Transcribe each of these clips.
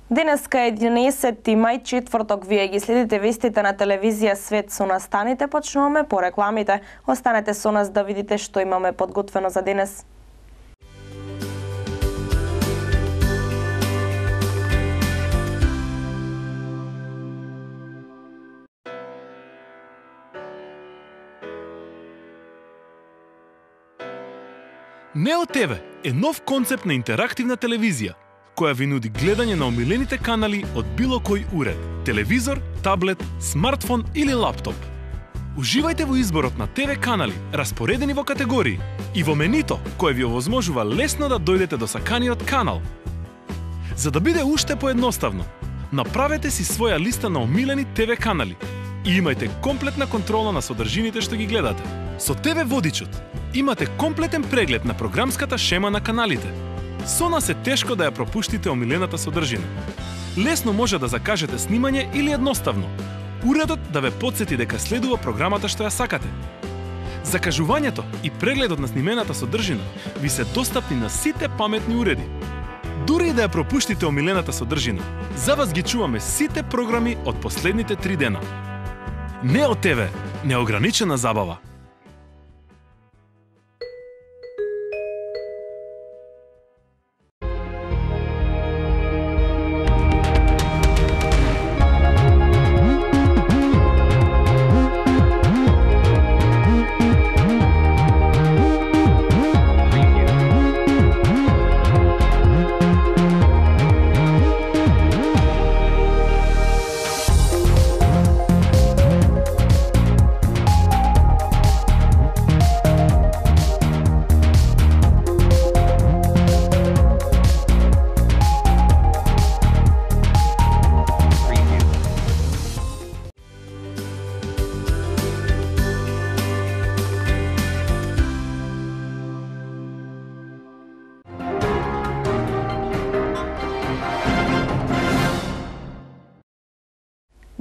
Денеска е 11 мај, четврток. Вие ги следите вестите на телевизија Свет со нас. Станите, почнуваме по рекламите. Останете со нас да видите што имаме подготвено за денес. Нео ТВ е нов концепт на интерактивна телевизија, која ви нуди гледање на омилените канали од било кој уред, телевизор, таблет, смартфон или лаптоп. Уживајте во изборот на ТВ канали, распоредени во категории, и во менито, кое ви овозможува лесно да дојдете до саканиот канал. За да биде уште поедноставно, направете си своја листа на омилени ТВ канали и имајте комплетна контрола на содржините што ги гледате. Со ТВ Водичот имате комплетен преглед на програмската шема на каналите. Со нас е тешко да ја пропуштите омилената содржина. Лесно може да закажете снимање или едноставно уредот да ве потсети дека следува програмата што ја сакате. Закажувањето и прегледот на снимената содржина ви се достапни на сите паметни уреди. Дури и да ја пропуштите омилената содржина, за вас ги чуваме сите програми од последните 3 дена. Нео ТВ, неограничена забава.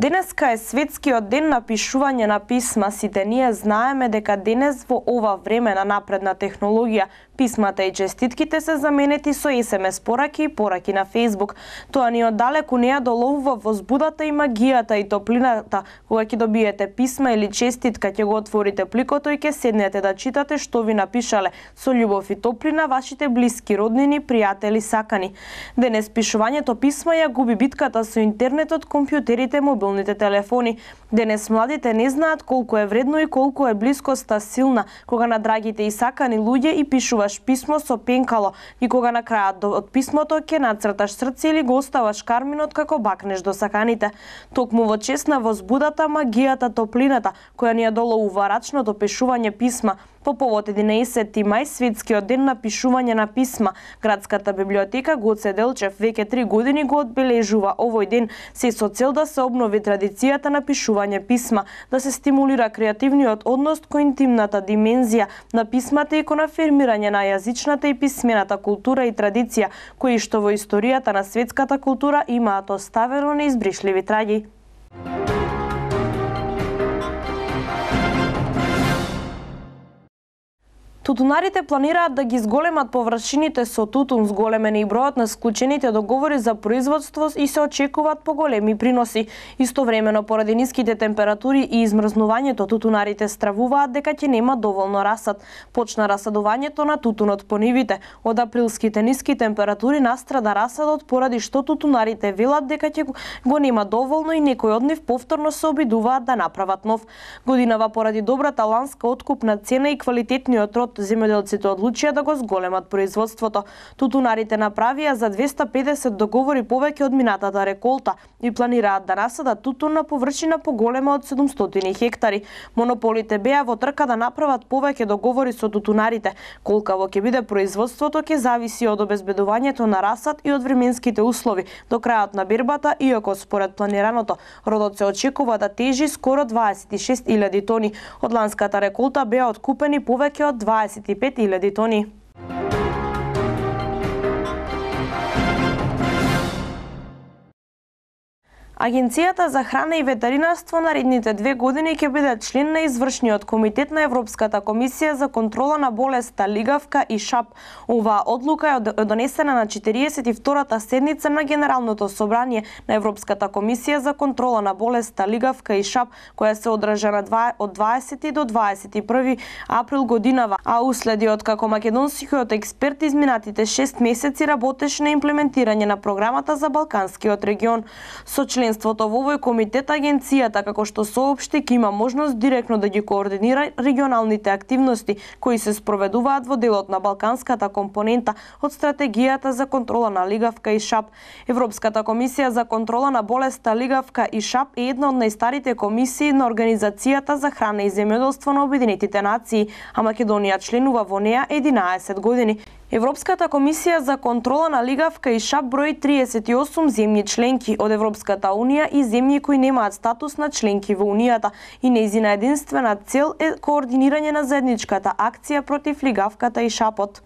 Денеска е светскиот ден на пишување на писма. Сите ние знаеме дека денес во ова време на напредна технологија писмата и честитките се заменети со SMS пораки и пораки на Facebook. Тоа ни оддалеку не ја доловува возбудата и магијата и топлината кога ќе добиете писма или честитка, ќе го отворите пликото и ќе седнете да читате што ви напишале со љубов и топлина вашите блиски, роднини, пријатели, сакани. Денес пишувањето писма ја губи битката со интернетот, компјутерите, мобилните телефони. Денес младите не знаат колку е вредно и колку е блискоста силна кога на драгите и сакани луѓе и пишуваш писмо со пенкало и кога на крајот од писмото ќе нацрташ срце или го оставаш карминот како бакнеш до саканите. Токму во чест на возбудата, магијата, топлината која ни ја доловува рачното пишување писма, по повод 11 мај, светскиот ден на пишување на писма, Градската библиотека Гоце Делчев веќе 3 години го одбележува овој ден се со цел да се обнови традицијата на пишување писма, да се стимулира креативниот однос кон интимната димензија на писмата и кон афирмирање на јазичната и писмената култура и традиција, кои што во историјата на светската култура имаат оставено неизбришливи траги. Тутунарите планираат да ги зголемат површините со тутун, зголемен и бројот на склучените договори за производство и се очекуваат поголеми приноси. Истовремено, поради ниските температури и измрзнувањето, тутунарите стравуваат дека ќе нема доволно расад. Почна расадувањето на тутунот по нивите. Од априлските ниски температури настрада расадот поради што тутунарите велат дека ќе го нема доволно и некои од нив повторно се обидуваат да направат нов. Годинава поради добрата ланска откупна цена и квалитетниот род, земјоделците одлучија да го зголемат производството. Тутунарите направија за 250 договори повеќе од минатата реколта и планираат да насадат тутун на површина поголема од 700 хектари. Монополите беа во трка да направат повеќе договори со тутунарите. Колкаво ќе биде производството ќе зависи од обезбедувањето на расад и од временските услови до крајот на бербата, иако според планираното родот се очекува да тежи скоро 26.000 тони. Од ланската реколта беа откупени повеќе од 25.000 тони. Агенцијата за храна и ветеринарство наредните 2 години ќе биде член на извршниот комитет на Европската комисија за контрола на болеста лигавка и шап. Оваа одлука е донесена на 42-та седница на Генералното собрание на Европската комисија за контрола на болеста лигавка и шап, која се одржа од 20 до 21 април годинава, а уследи од како македонскиот експерт изминатите 6 месеци работеше на имплементирање на програмата за Балканскиот регион. Со членството во овој комитет, агенцијата, како што соопшти, ќе има можност директно да ги координира регионалните активности кои се спроведуваат во делот на балканската компонента од стратегијата за контрола на лигавка и шап. Европската комисија за контрола на болеста лигавка и шап е една од најстарите комисии на Организацијата за храна и земјоделство на Обединетите нации, а Македонија членува во неа 11 години. Европската комисија за контрола на лигавка и шап брои 38 земји членки од Европската унија и земји кои немаат статус на членки во унијата, и нејзина единствена цел е координирање на заедничката акција против лигавката и шапот.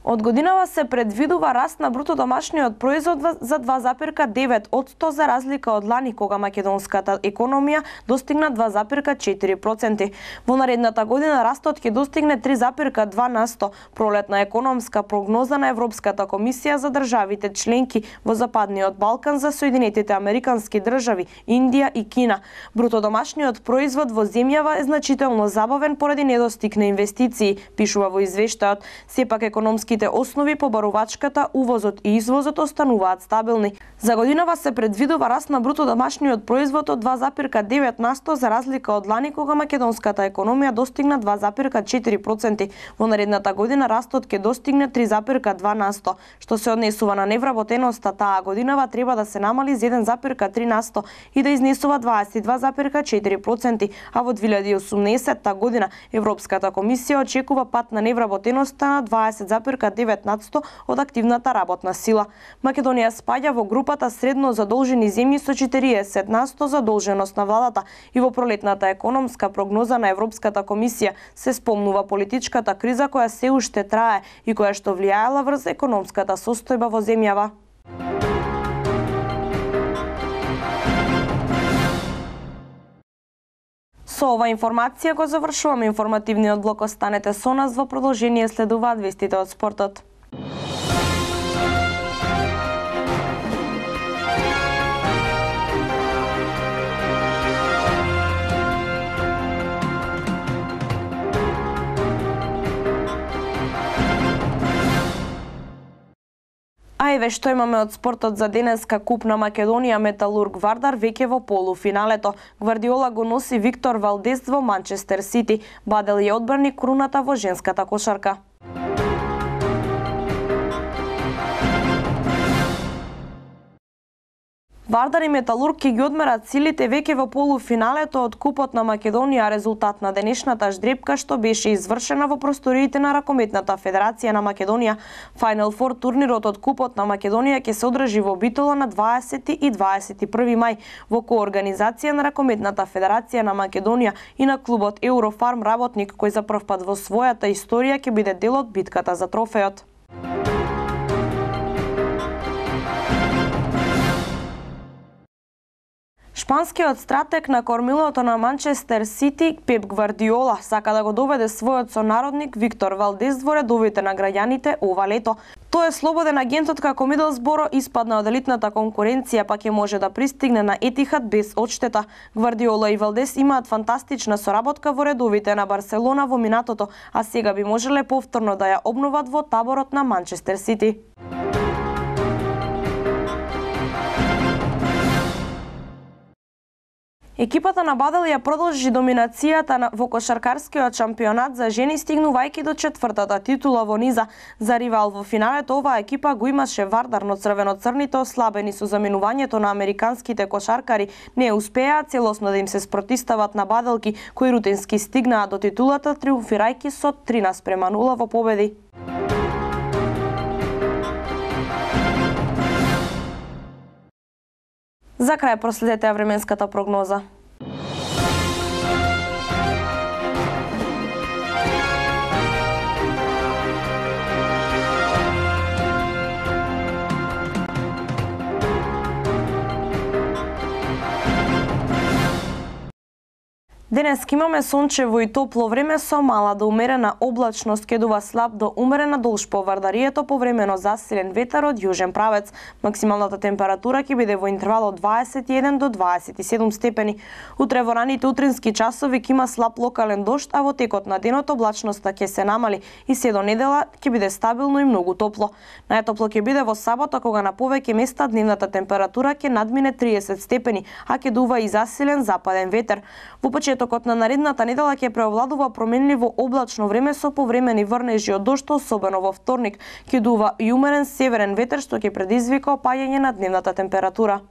Од годинава се предвидува раст на бруто домашниот производ за 2,9% за разлика од лани, кога македонската економија достигна 2,4%. Во наредната година растот ќе достигне 3,2%. Пролетна економска прогноза на Европската комисија за државите членки во Западниот Балкан за Соединетите Американски држави, Индија и Кина. Бруто домашниот производ во земјава е значително забавен поради недостиг на инвестиции, пишува во извештајот. Сепак економски основи по барувачката, увозот и извозот остануваат стабилни. За годинава се предвидува раст на бруто домашниот производ од 2,9% за разлика од лани, кога македонската економија достигна 2,4%. Во наредната година растот ќе достигне 3,2%. Што се однесува на невработеноста, таа годинава треба да се намали за 1,3% и да изнесува 22,4%, а во 2018 година Европската комисија очекува пат на невработеноста на 20,9% од активната работна сила. Македонија спаѓа во групата средно задолжени земји со 40% задолженост на владата и во пролетната економска прогноза на Европската комисија се спомнува политичката криза која се уште трае и која што влијаела врз економската состојба во земјава. Со ова информација го завршуваме информативниот блок. Останете со нас, во продолжение следуваат вестите од спортот. А еве што имаме од спортот за денеска. Куп на Македонија, Металург Вардар веќе во полуфиналето. Гвардиола го носи Виктор Валдес во Манчестер Сити. Бадел е одбраник круната во женската кошарка. Вардар и Металург ќе ги одмерат силите веќе во полуфиналето од Купот на Македонија, резултат на денешната ждрепка што беше извршена во просториите на Ракометната федерација на Македонија. Final Four турнирот од Купот на Македонија ќе се одржи во Битола на 20 и 21 мај во коорганизација на Ракометната федерација на Македонија и на клубот Eurofarm работник, кој за прв пат во својата историја ќе биде дел од битката за трофеот. Шпанскиот стратег на кормилото на Манчестер Сити, Пеп Гвардиола, сака да го доведе својот сонародник Виктор Валдес во редовите на граѓаните ова лето. Тој е слободен агентот како Мидлсборо испадна од елитната конкуренција, па ќе може да пристигне на Етихад без одштета. Гвардиола и Валдес имаат фантастична соработка во редовите на Барселона во минатото, а сега би можеле повторно да ја обноват во таборот на Манчестер Сити. Екипата на Бадел ја продолжи доминацијата во кошаркарскиот шампионат за жени, стигнувајќи до четвртата титула во низа. За ривал во финалето оваа екипа го имаше Вардар, но црвено-црните, ослабени со заменувањето на американските кошаркари, не успеа целосно да им се спротистават на баделки, кои рутински стигнаа до титулата, триумфирајќи со 13:0 во победи. За крај проследете временската прогноза. Денес имаме сончево и топло време со мала до умерена облачност, ке дува слаб до умерена долж по Вардарието, повремено засилен ветар од јужен правец. Максималната температура ќе биде во интервал од 21 до 27 степени. Утре во раните утрински часови ќе има слаб локален дожд, а во текот на денот облачноста ќе се намали и се до недела ќе биде стабилно и многу топло. Најтопло ќе биде во сабота, кога на повеќе места дневната температура ќе надмине 30 степени, а ќе дува и засилен западен ветер. Во почетокот на наредната недела ќе преовладува променливо облачно време со повремени врнежи од дожд, особено во вторник. Ќе дува и умерен северен ветер, што ќе предизвика опаѓање на дневната температура.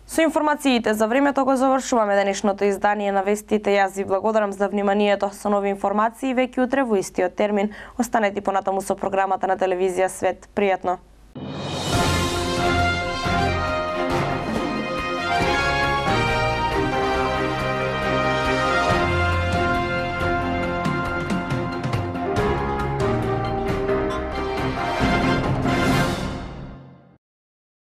Со информациите за времето го завршуваме денешното издание на вестите. Јас ви благодарам за вниманието. Со нови информации веќе утре во истиот термин. Останете понатаму со програмата на телевизија Свет. Пријатно!